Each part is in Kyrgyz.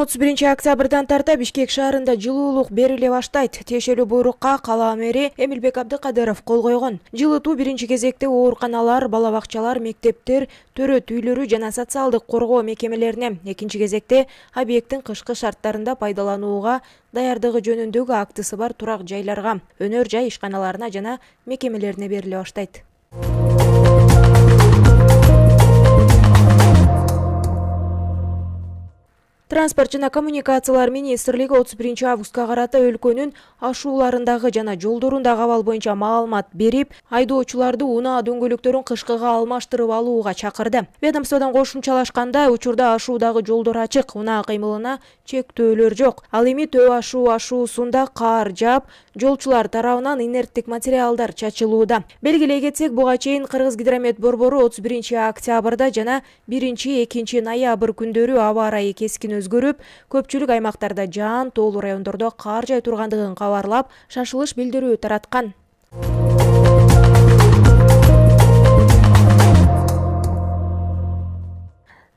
31-октябрдан тарта Бишкек шаарында жылуулук бериле баштайт. Тиешелүү буйрукка кала мэри Эмилбек Абдыкадыров кол койгон. Жылытуу биринчи кезекте ооруканалар, бала бакчалар, мектептер, төрөт үйлөрү жана социалдык коргоо мекемелерине, экинчи кезекте объекттин кышкы шарттарында пайдаланууга даярдыгы жөнүндөгү актысы бар турак жайларга, өнөр жай ишканаларына жана мекемелерине бериле баштайт. Транспорт жана коммуникациялар министрлиги 31-августка карата өлкөнүн ашууларындагы жана жолдорундагы абал боюнча маалымат берип, айдоочуларды унаа дөңгөлөктөрүн кышкыга алмаштырып алууга чакырды. Ведомстводон кошумчалашканда, учурда ашуудагы жолдор ачык, унаа кыймылына чектөөлөр жок. Ал эми төө ашуусунда кар жаап, жолчулар тарабынан инерттик материалдар чачылууда. Белгилей кетсек, буга чейин Кыргызгидромет борбору 31-октябрда жана 1-2 ноябрь күндөрү аба ырайы кескин өзгөрүп, көпчүлүк аймактарда жаан, тоолуу райондордо кар жай тургандыгын кабарлап, шашылыш билдирүү тараткан.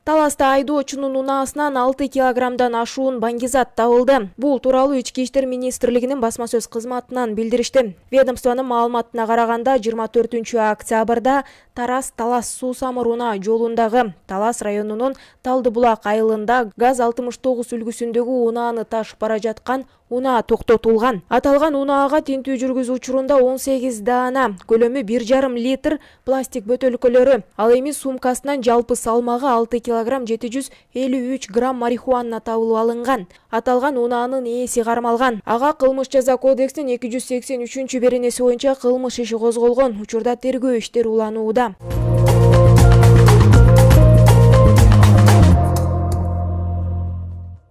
Таласта айдоочунун унаасынан 6 килограммдан ашуун баңгизат табылды. Бул тууралуу Ички иштер министрлигинин басма сөз кызматынан билдиришти. Ведомствонун маалыматына караганда, 24-октябрда Тарас-Талас суу-самыр унаа жолундагы Талас районунун Талдыбулак айылында ГАЗ-69 үлгүсүндөгү унааны ташып бара жаткан унаа токтотулган. Аталган унаага тинтүү жүргүзүү учурунда 18 даана, көлөмү 1,5 литр пластик бөтөлкөлөрү, ал эми сумкасынан жалпы салмагы 6 килограмм 753 грамм марихуана табылып алынган. Аталган унаанын ээси кармалган. Ага кылмыш жаза кодексинин 283 беренеси боюнча кылмыш иши козголгон. Учурда тергөө иштери уланууда.